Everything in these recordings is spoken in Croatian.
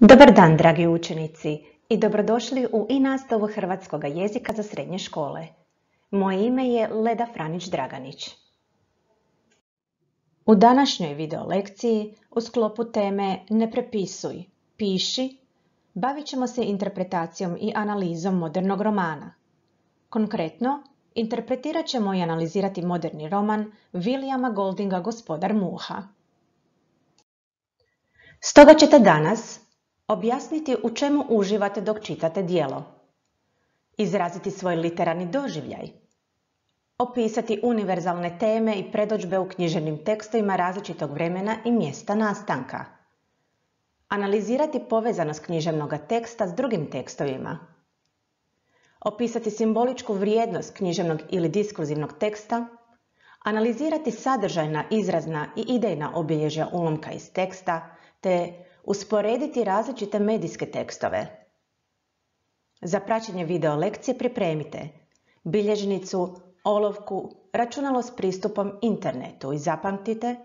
Dobar dan, dragi učenici, i dobrodošli u nastavu hrvatskog jezika za srednje škole. Moje ime je Leda Franić-Draganić. U današnjoj video lekciji u sklopu teme Ne prepisuj, piši, bavit ćemo se interpretacijom i analizom modernog romana. Konkretno, interpretirat ćemo i analizirati moderni roman Williama Goldinga Gospodar muha. Stoga ćete danas objasniti u čemu uživate dok čitate djelo, izraziti svoj literarni doživljaj, opisati univerzalne teme i predodžbe u književnim tekstovima različitog vremena i mjesta nastanka, analizirati povezanost književnog teksta s drugim tekstovima, opisati simboličku vrijednost književnog ili diskurzivnog teksta, analizirati sadržajna, izrazna i idejna obilježja ulomka iz teksta, te usporediti različite medijske tekstove. Za praćenje video lekcije pripremite bilježnicu, olovku, računalo s pristupom internetu i zapamtite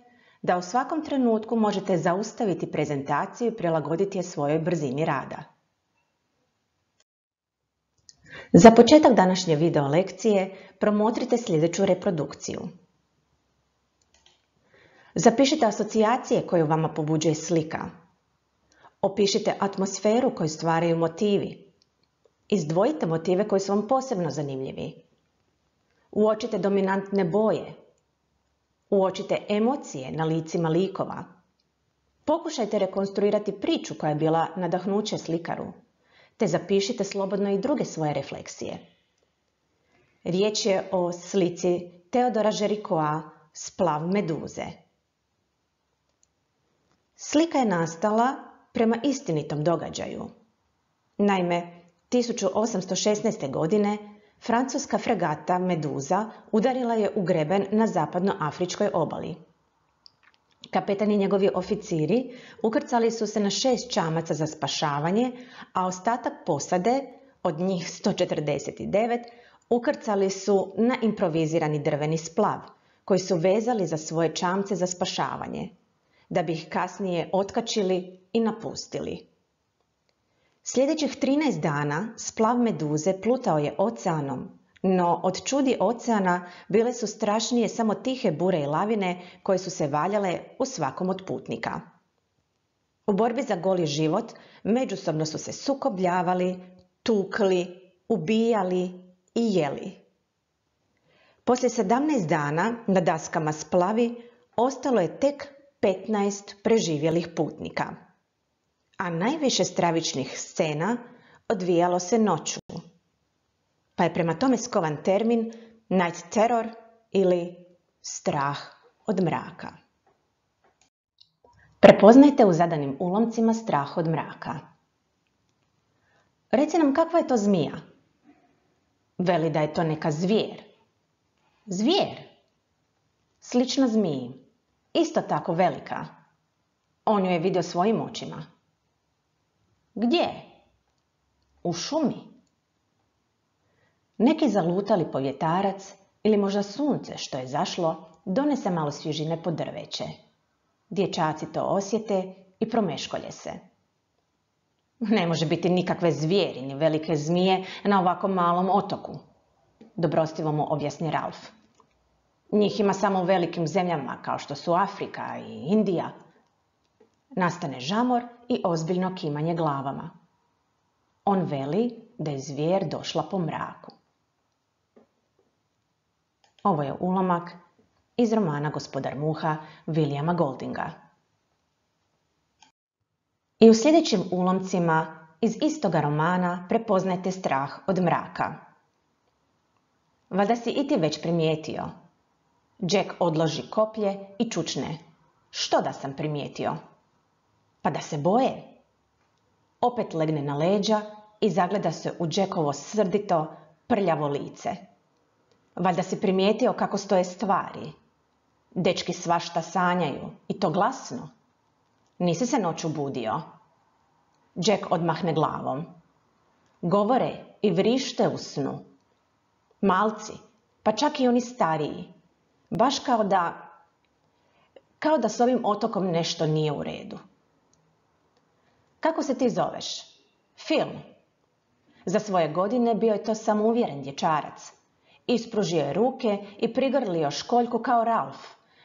da u svakom trenutku možete zaustaviti prezentaciju i prilagoditi je svojoj brzini rada. Za početak današnje video lekcije promotrite sljedeću reprodukciju. Zapišite asocijacije koju vama pobuđuje slika. Opišite atmosferu koju stvaraju motivi. Izdvojite motive koji su vam posebno zanimljivi. Uočite dominantne boje. Uočite emocije na licima likova. Pokušajte rekonstruirati priču koja je bila nadahnuće slikaru, te zapišite slobodno i druge svoje refleksije. Riječ je o slici Teodora Géricaulta Splav meduze. Slika je nastala prema istinitom događaju. Naime, 1816. godine francuska fregata Meduza udarila je u greben na zapadnoafričkoj obali. Kapetan i njegovi oficiri ukrcali su se na 6 čamaca za spašavanje, a ostatak posade, od njih 149, ukrcali su na improvizirani drveni splav, koji su vezali za svoje čamce za spašavanje, da bi ih kasnije otkačili i napustili. Sljedećih 13 dana splav Meduze plutao je oceanom, no od čudi oceana bile su strašnije samo tihe bure i lavine koje su se valjale u svakom od putnika. U borbi za goli život međusobno su se sukobljavali, tukli, ubijali i jeli. Poslije 17 dana na daskama splavi ostalo je tek 15 preživjelih putnika, a najviše stravičnih scena odvijalo se noću, pa je prema tome skovan termin night terror ili strah od mraka. Prepoznajte u zadanim ulomcima strah od mraka. Reci nam kakva je to zmija. Veli da je to neka zvijer. Zvijer? Slična zmiji. Isto tako velika. On ju je vidio svojim očima. Gdje? U šumi. Neki zalutali povjetarac ili možda sunce što je zašlo donese malo svježine po drveće. Dječaci to osjete i promeškolje se. Ne može biti nikakve zvijeri ni velike zmije na ovako malom otoku, dobrostivo mu objasni Ralf. Njih ima samo u velikim zemljama kao što su Afrika i Indija. Nastane žamor i ozbiljno kimanje glavama. On veli da je zvijer došla po mraku. Ovo je ulomak iz romana Gospodar muha Williama Goldinga. I u sljedećim ulomcima iz istoga romana prepoznajte strah od mraka. Valjda si i ti već primijetio. Jack odloži koplje i čučne. Što da sam primijetio? Pa da se boje. Opet legne na leđa i zagleda se u Jackovo srdito, prljavo lice. Valjda si primijetio kako stoje stvari. Dečki svašta sanjaju, i to glasno. Nisi se noću budio? Jack odmahne glavom. Govore i vrište u snu. Malci, pa čak i oni stariji. Baš kao da s ovim otokom nešto nije u redu. Kako se ti zoveš? Film. Za svoje godine bio je to samouvjeren dječarac. Ispružio je ruke i prigrlio školjku kao Ralf,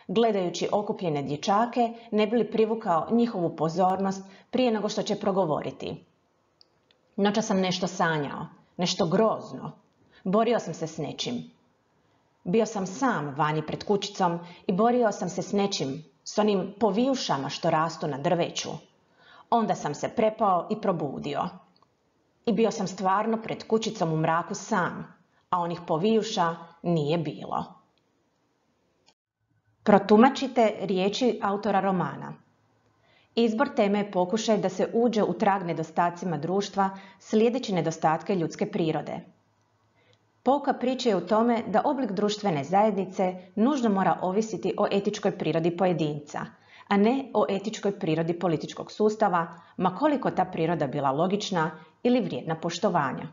gledajući okupljene dječake ne bi li privukao njihovu pozornost prije nego što će progovoriti. Noća sam nešto sanjao, nešto grozno. Borio sam se s nečim. Bio sam sam vani pred kućicom i borio sam se s nečim, s onim povijušama što rastu na drveću. Onda sam se prepao i probudio. I bio sam stvarno pred kućicom u mraku sam, a onih povijuša nije bilo. Protumačite riječi autora romana. Izbor teme je pokušaj da se uđe u trag nedostacima društva slijedeći nedostatke ljudske prirode. Pouka priče je u tome da oblik društvene zajednice nužno mora ovisiti o etičkoj prirodi pojedinca, a ne o etičkoj prirodi političkog sustava, ma koliko ta priroda bila logična ili vrijedna poštovanja.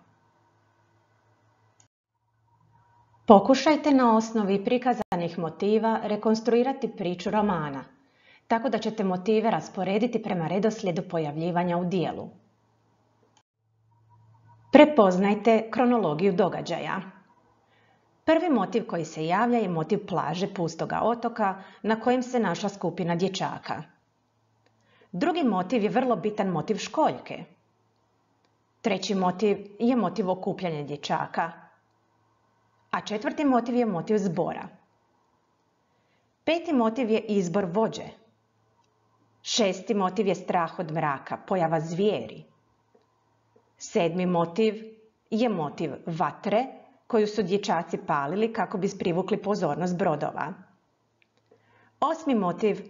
Pokušajte na osnovi prikazanih motiva rekonstruirati priču romana, tako da ćete motive rasporediti prema redoslijedu pojavljivanja u dijelu. Prepoznajte kronologiju događaja. Prvi motiv koji se javlja je motiv plaže pustoga otoka na kojem se našla skupina dječaka. Drugi motiv je vrlo bitan motiv školjke. Treći motiv je motiv okupljanja dječaka. A četvrti motiv je motiv zbora. Peti motiv je izbor vođe. Šesti motiv je strah od mraka, pojava zvijeri. Sedmi motiv je motiv vatre koju su dječaci palili kako bi privukli pozornost brodova. Osmi motiv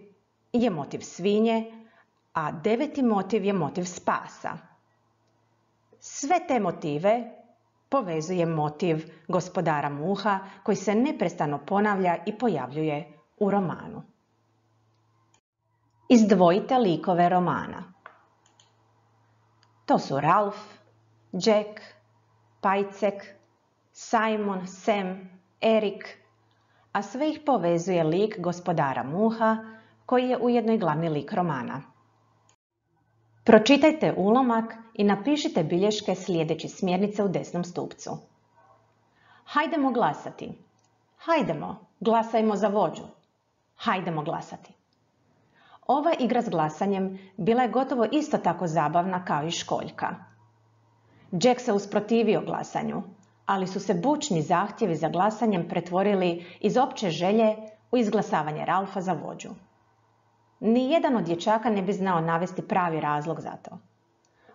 je motiv svinje, a deveti motiv je motiv spasa. Sve te motive povezuje motiv gospodara Muha koji se neprestano ponavlja i pojavljuje u romanu. Izdvojite likove romana. To su Ralf, Jack, Pajcek, Simon, Sam, Erik, a sve ih povezuje lik gospodara Muha koji je ujedno i glavni lik romana. Pročitajte ulomak i napišite bilješke slijedeći smjernice u desnom stupcu. Hajdemo glasati. Hajdemo, glasajmo za vođu. Hajdemo glasati. Ova igra s glasanjem bila je gotovo isto tako zabavna kao i školjka. Jack se usprotivio glasanju, ali su se bučni zahtjevi za glasanjem pretvorili iz opće želje u izglasavanje Ralfa za vođu. Nijedan od dječaka ne bi znao navesti pravi razlog za to.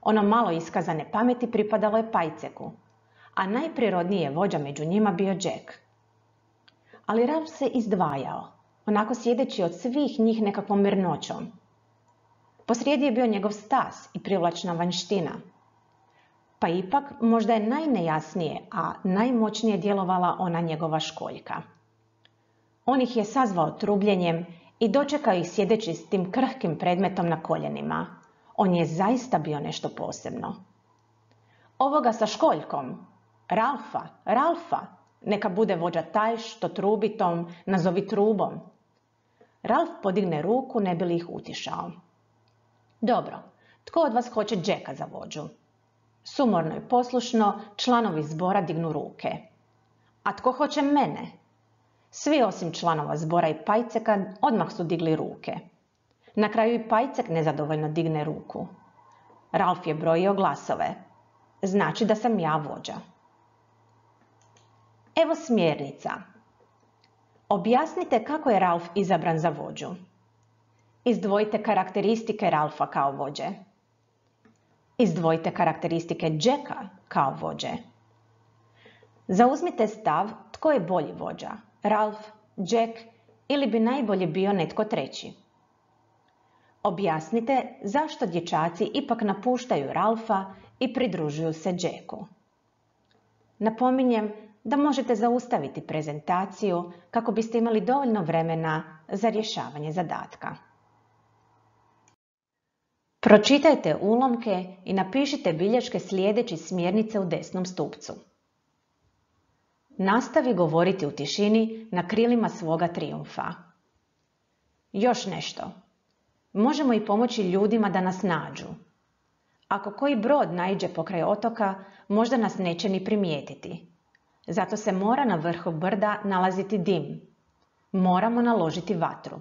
Ono malo iskazane pameti pripadalo je Pajceku, a najprirodniji je vođa među njima bio Jack. Ali Ralf se izdvajao, onako sjedeći od svih njih nekakvom mirnoćom. Posrijedi je bio njegov stas i privlačna vanjština. Pa ipak možda je najnejasnije, a najmoćnije djelovala ona njegova školjka. On ih je sazvao trubljenjem i dočekao ih sjedeći s tim krhkim predmetom na koljenima. On je zaista bio nešto posebno. Ovoga sa školjkom, Ralfa, neka bude vođa taj što trubi tom, nazovi trubom. Ralf podigne ruku ne bi li ih utišao. Dobro, tko od vas hoće Jacka za vođu? Sumorno i poslušno članovi zbora dignu ruke. A tko hoće mene? Svi osim članova zbora i Pajceka odmah su digli ruke. Na kraju i Pajcek nezadovoljno digne ruku. Ralf je brojio glasove. Znači da sam ja vođa. Evo smjernica. Objasnite kako je Ralf izabran za vođu. Izdvojite karakteristike Ralfa kao vođe. Izdvojite karakteristike Jacka kao vođe. Zauzmite stav tko je bolji vođa, Ralf, Jack ili bi najbolje bio netko treći. Objasnite zašto dječaci ipak napuštaju Ralfa i pridružuju se Jacku. Napominjem da možete zaustaviti prezentaciju kako biste imali dovoljno vremena za rješavanje zadatka. Pročitajte ulomke i napišite bilješke slijedeći smjernice u desnom stupcu. Nastavi govoriti u tišini na krilima svoga trijumfa. Još nešto. Možemo i pomoći ljudima da nas nađu. Ako koji brod naiđe pokraj otoka, možda nas neće ni primijetiti. Zato se mora na vrhu brda nalaziti dim. Moramo naložiti vatru.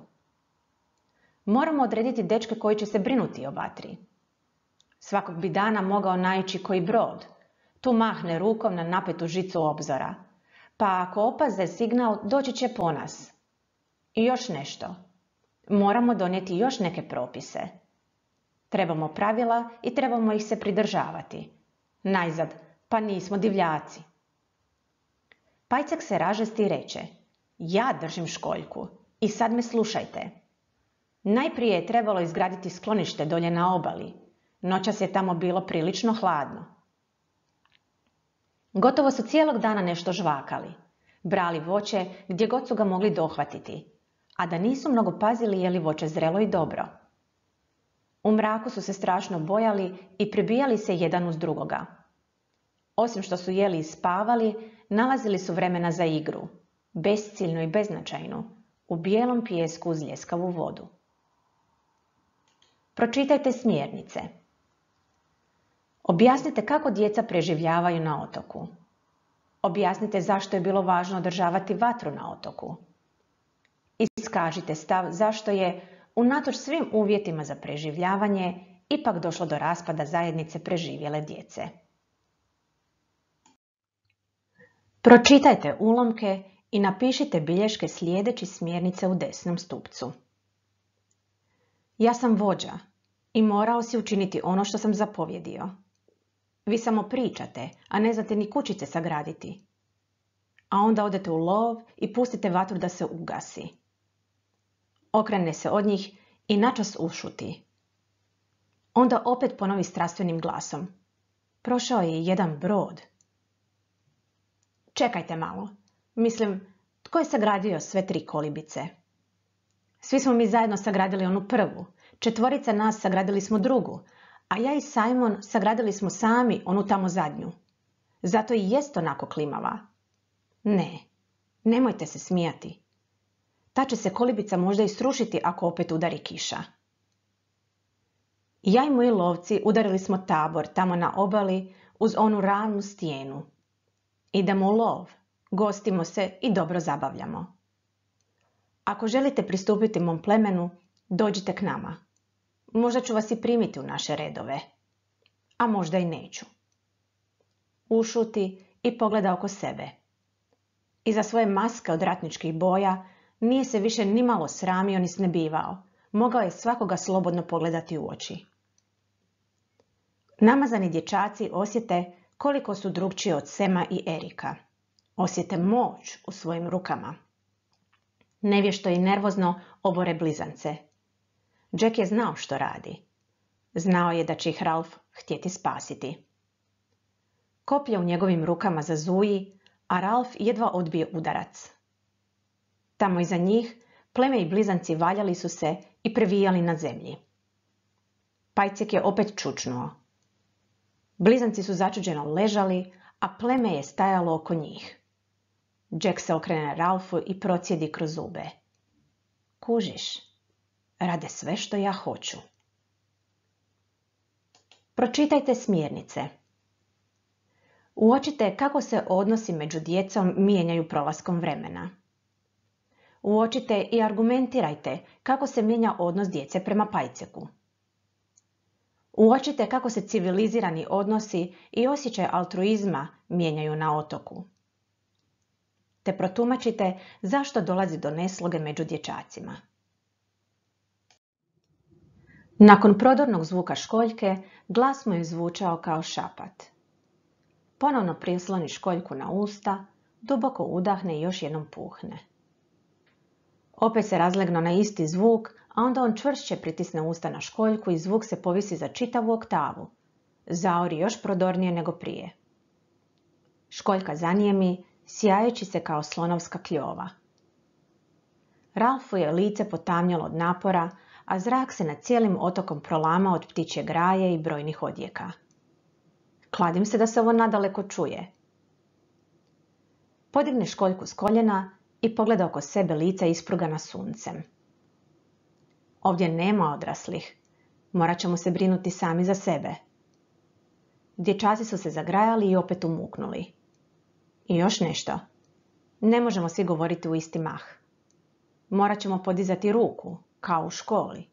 Moramo odrediti dečke koji će se brinuti o vatri. Svakog bi dana mogao naići koji brod. Tu mahne rukom na napetu žicu obzora. Pa ako opaze signal, doći će po nas. I još nešto. Moramo donijeti još neke propise. Trebamo pravila i trebamo ih se pridržavati. Najzad, pa nismo divljaci. Pajcek se ražesti i reče: ja držim školjku i sad me slušajte. Najprije je trebalo izgraditi sklonište dolje na obali. Noćas je tamo bilo prilično hladno. Gotovo su cijelog dana nešto žvakali. Brali voće gdje god su ga mogli dohvatiti, a da nisu mnogo pazili je li voće zrelo i dobro. U mraku su se strašno bojali i pribijali se jedan uz drugoga. Osim što su jeli i spavali, nalazili su vremena za igru, besciljnu i beznačajnu, u bijelom pijesku uz ljeskavu vodu. Pročitajte smjernice. Objasnite kako djeca preživljavaju na otoku. Objasnite zašto je bilo važno održavati vatru na otoku. Iskažite stav zašto je, unatoč svim uvjetima za preživljavanje, ipak došlo do raspada zajednice preživjele djece. Pročitajte ulomke i napišite bilješke slijedeći smjernice u desnom stupcu. Ja sam vođa i morao si učiniti ono što sam zapovjedio. Vi samo pričate, a ne znate ni kućice sagraditi. A onda odete u lov i pustite vatru da se ugasi. Okrene se od njih i načas ušuti. Onda opet ponovi strastvenim glasom: prošao je jedan brod. Čekajte malo. Mislim, tko je sagradio sve 3 kolibice? Svi smo mi zajedno sagradili onu prvu. 4 nas sagradili smo drugu, a ja i Simon sagradili smo sami onu tamo zadnju. Zato i jest onako klimava. Ne, nemojte se smijati. Ta će se kolibica možda i srušiti ako opet udari kiša. Ja i moji lovci udarili smo tabor tamo na obali uz onu ravnu stijenu. Idemo u lov, gostimo se i dobro zabavljamo. Ako želite pristupiti mom plemenu, dođite k nama. Možda ću vas i primiti u naše redove, a možda i neću. Ušuti i pogleda oko sebe. Iza svoje maske od ratničkih boja nije se više nimalo sramio ni snebivao. Mogao je svakoga slobodno pogledati u oči. Namazani dječaci osjete koliko su drukčiji od Sema i Erika. Osjete moć u svojim rukama. Nevješto i nervozno obore blizance. Jack je znao što radi. Znao je da će ih Ralph htjeti spasiti. Koplje u njegovim rukama zazuji, a Ralph jedva odbije udarac. Tamo iza njih pleme i blizanci valjali su se i previjali na zemlji. Pajcek je opet čučnuo. Blizanci su začuđeno ležali, a pleme je stajalo oko njih. Jack se okrene Ralphu i procijedi kroz zube. Kužiš, rade sve što ja hoću. Pročitajte smjernice. Uočite kako se odnosi među djecom mijenjaju prolaskom vremena. Uočite i argumentirajte kako se mijenja odnos djece prema Pajceku. Uočite kako se civilizirani odnosi i osjećaj altruizma mijenjaju na otoku. Te protumačite zašto dolazi do nesloge među dječacima. Nakon prodornog zvuka školjke, glas mu je zvučao kao šapat. Ponovno prisloni školjku na usta, duboko udahne i još jednom puhne. Opet se razlegno na isti zvuk, a onda on čvršće pritisne usta na školjku i zvuk se povisi za čitavu oktavu. Zaori još prodornije nego prije. Školjka zanijemi, sjajeći se kao slonovska kljova. Ralphu je lice potamnjalo od napora, a zrak se nad cijelim otokom prolamao od ptičje graje i brojnih odjeka. Kladim se da se ovo nadaleko čuje. Podigne školjku s koljena i pogleda oko sebe lica isprugana suncem. Ovdje nema odraslih. Morat ćemo se brinuti sami za sebe. Dječaci su se zagrajali i opet umuknuli. I još nešto. Ne možemo svi govoriti u isti mah. Morat ćemo podizati ruku, kao u školi.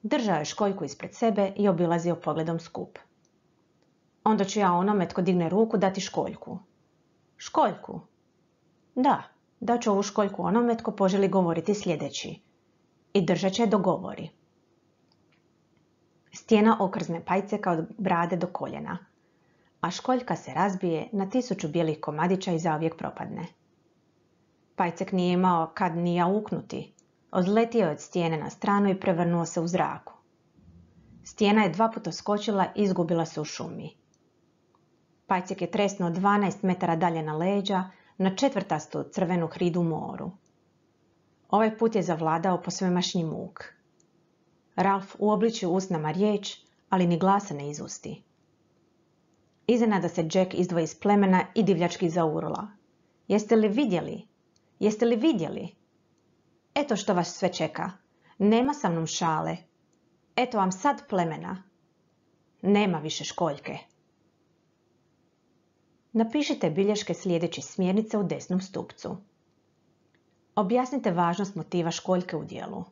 Držao je školjku ispred sebe i obilazio pogledom skup. Onda ću ja onome tko digne ruku dati školjku. Školjku? Da, daću ovu školjku onome tko poželi govoriti sljedeći. I držat će do govori. Stijena okrzne Pajceka od brade do koljena, a školjka se razbije na 1000 bijelih komadića i zauvijek propadne. Pajcek nije imao kad ni jauknuti. Odletio je od stijene na stranu i prevrnuo se u zraku. Stijena je 2 puta skočila i izgubila se u šumi. Pajcek je tresnuo 12 metara dalje na leđa, na 4. crvenu hridu u moru. Ovaj put je zavladao posvemašnji muk. Ralf uobliči u usnama riječ, ali ni glasa ne izusti. Iznenada se Jack izdvoji iz plemena i divljački zaurla. Jeste li vidjeli? Jeste li vidjeli? Eto što vas sve čeka. Nema sa mnom šale. Eto vam sad plemena. Nema više školjke. Napišite bilješke sljedeći smjernice u desnom stupcu. Objasnite važnost motiva školjke u djelu.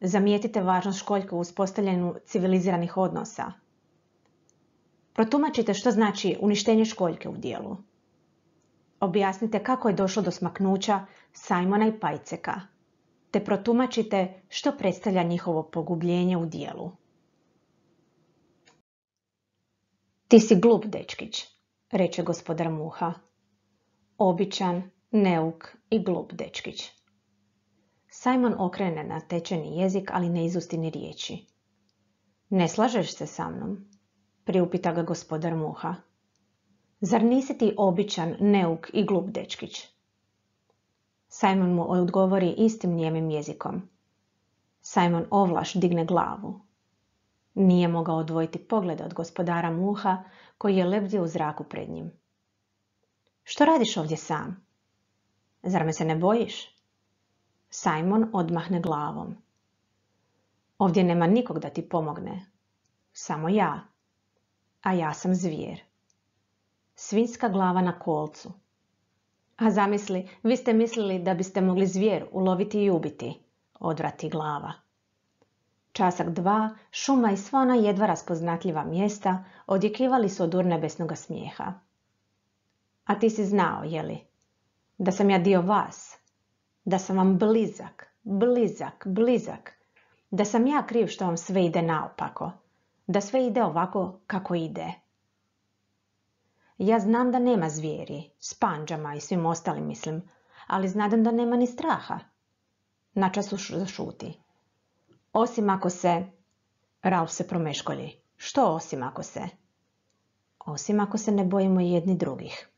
Zamijetite važnost školjke u uspostavljanju civiliziranih odnosa. Protumačite što znači uništenje školjke u djelu. Objasnite kako je došlo do smaknuća Simona i Pajceka, te protumačite što predstavlja njihovo pogubljenje u djelu. Ti si glup, dečkić, reče gospodar Muha. Običan, neuk i glup dečkić. Simon okrene na tečeni jezik, ali ne izusti ni riječi. Ne slažeš se sa mnom? Priupita ga gospodar Muha. Zar nisi ti običan, neuk i glup dečkić? Simon mu odgovori istim nijemim jezikom. Simon ovlaš digne glavu. Nije mogao odvojiti pogleda od gospodara Muha, koji je lebdio u zraku pred njim. Što radiš ovdje sam? Zar me se ne bojiš? Simon odmahne glavom. Ovdje nema nikog da ti pomogne. Samo ja. A ja sam zvijer. Svinjska glava na kolcu. A zamisli, vi ste mislili da biste mogli zvijer uloviti i ubiti, odvrati glava. Časak 2, šuma i sva ona jedva raspoznatljiva mjesta odjekivali su od urnebesnoga smijeha. A ti si znao, jeli, da sam ja dio vas, da sam vam blizak, blizak, blizak, da sam ja kriv što vam sve ide naopako, da sve ide ovako kako ide. Ja znam da nema zvijeri, s pandžama i svim ostalim mislim, ali znadem da nema ni straha. Načas zašuti. Osim ako se... Ralf se promeškolji. Što osim ako se? Osim ako se ne bojimo jedni drugih.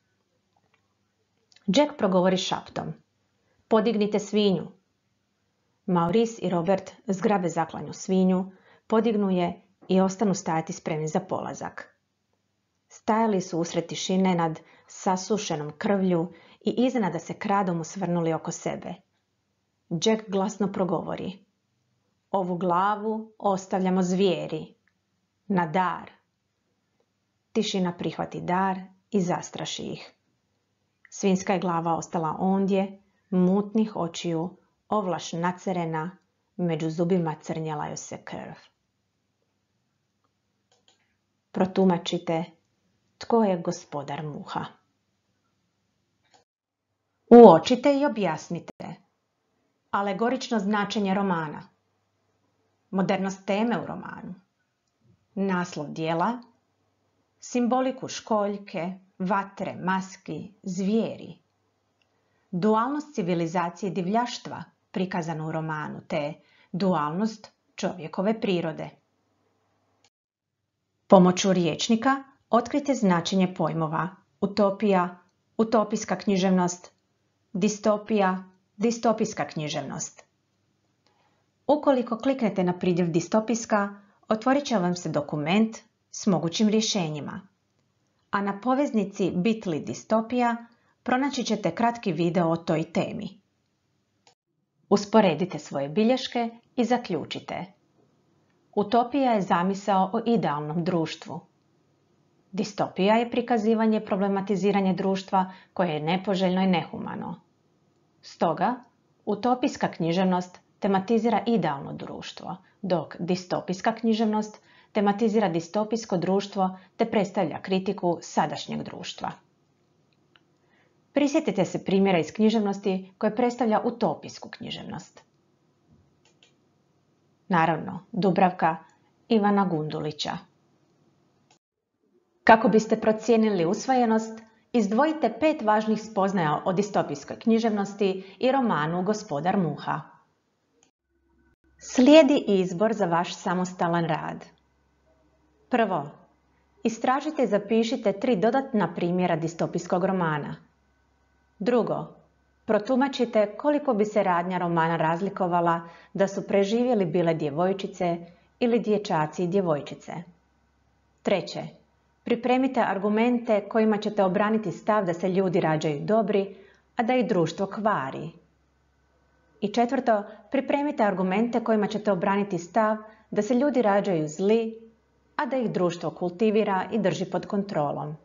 Jack progovori šaptom. Podignite svinju. Maurice i Robert zgrabe zaklanju svinju, podignu je i ostanu stajati spremni za polazak. Stajali su usred tišine nad sasušenom krvlju i iznenada se kradom usvrnuli oko sebe. Jack glasno progovori. Ovu glavu ostavljamo zvijeri. Na dar. Tišina prihvati dar i zastraši ih. Svinjska je glava ostala ondje, mutnih očiju, ovlaš nacerena, među zubima crnjela joj se krv. Protumačite tko je gospodar Muha. Uočite i objasnite. Alegorično značenje romana. Modernost teme u romanu. Naslov dijela. Simboliku školjke, vatre, maski, zvijeri. Dualnost civilizacije divljaštva prikazano u romanu, te dualnost čovjekove prirode. Pomoću riječnika otkrite značenje pojmova utopija, utopijska književnost, distopija, distopijska književnost. Ukoliko kliknete na pridjev distopijska, otvorit će vam se dokument s mogućim rješenjima. A na poveznici bit.ly distopija pronaći ćete kratki video o toj temi. Usporedite svoje bilješke i zaključite. Utopija je zamisao o idealnom društvu. Distopija je prikazivanje, problematiziranje društva koje je nepoželjno i nehumano. Stoga, utopijska književnost tematizira idealno društvo, dok distopijska književnost tematizira distopijsko društvo te predstavlja kritiku sadašnjeg društva. Prisjetite se primjera iz književnosti koje predstavlja utopijsku književnost. Naravno, Dubravka Ivana Gundulića. Kako biste procijenili usvojenost, izdvojite 5 važnih spoznaja o distopijskoj književnosti i romanu Gospodar muha. Slijedi izbor za vaš samostalan rad. Prvo, istražite i zapišite 3 dodatna primjera distopijskog romana. Drugo, protumačite koliko bi se radnja romana razlikovala da su preživjeli bile djevojčice ili dječaci i djevojčice. Treće, pripremite argumente kojima ćete obraniti stav da se ljudi rađaju dobri, a da ih društvo kvari. I četvrto, pripremite argumente kojima ćete obraniti stav da se ljudi rađaju zli, a da ih društvo kultivira i drži pod kontrolom.